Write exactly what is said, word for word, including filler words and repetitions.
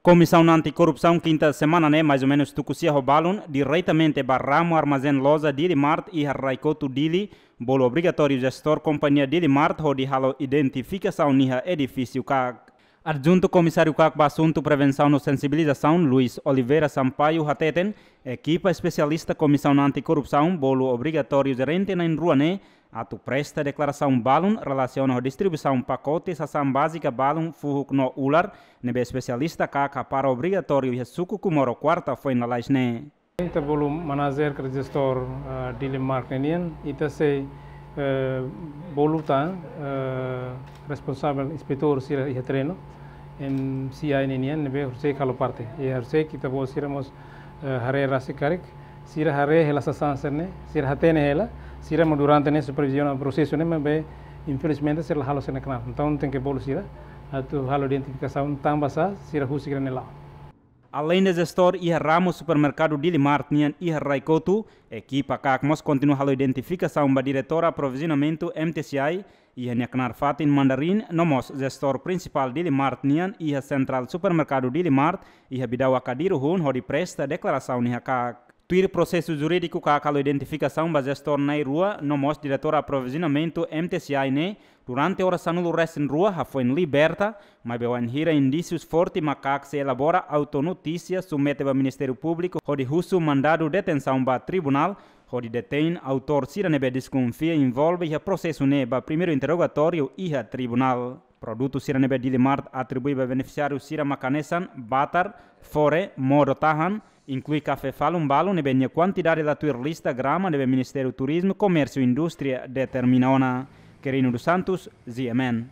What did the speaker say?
Komisaun Anti-Korrupsaun kinta semana ne'e, mais ou menus tuku sia ho balun, diretamente ba ramu armazén loja Dili Mart iha Rai-Kotu, Dili, bolu obrigatóriu jestór kompañia Dili Mart hodi halo identifikasaun iha edifísiu KAK. Adjuntu Komisáriu KAK ba Asuntu Prevensaun no Sensibilizasaun, Luis Oliveira Sampaio, hateten, ekipa espesialista Komisaun Anti-Korrupsaun bolu obrigatóriu jerente na'in-rua ne'e atu presta deklarasaun balun relasiona ho distribuisaun pakote sasán bázika balun fuhuk no ular, ne'ebé espesialista KAK hapara obrigatóriu iha suku Comoro, kuarta foin lalais ne'e. Ita bolu manajer ka jestór, ah, Dili Mart ne'e nian, ita sei, eh, bolu tan, eh, responsavel inspetór sira iha terrenu, M C I ne'e nian, ne'ebé horiseik halo parte. I horiseik ita-boot sira mós, eh, haree rasik karik, sira haree hela sasán sira-ne'e, sira hatene hela, sira mós durante ne'e superviziona prosesu ne'e, maibé infelizmente sira la halo sira-nia knaar. Entaun tenke bolu sira atu halo identifikasaun tanba sá sira husik sira-nia la'o. Aleinde jestór iha ramu supermerkadu Dili Mart nian iha Rai-Kotu, ekipa KAK mós kontinua halo identifikasaun ba diretór aprovizionamentu, M T C I, iha nia knaar fatin Mandarin, no mós jestór prinsipál Dili Mart nian iha sentrál supermerkadu Dili Mart iha Bidau Akadiru hun hodi presta deklarasaun iha KAK. Tuir prosesu jurídiku, KAK halo identifikasaun ba jestór na'in-rua no mós diretór aprovizionamentu, M T C I, ne'e durante oras sanulu-resin-rua hafoin liberta, maibé wainhira indísius forte mak KAK sei elabora auto-notísia, submete ba Ministériu Públiku hodi husu mandadu detensaun ba tribunál hodi detein autór sira ne'ebé deskonfia envolve iha prosesu ne'e ba primeiru interrogatóriu iha tribunál. Produtu sira ne'ebé Dili Mart atribui ba benefisiáriu sira mak hanesan batar, fore, modo tahan, inklui kafé falun balun ne'ebé nia kuantidade la tuir lista grama ne'ebé Ministériu Turizmu, Komérsiu no Indústria determina ona. Quirino dos Santos, G M N.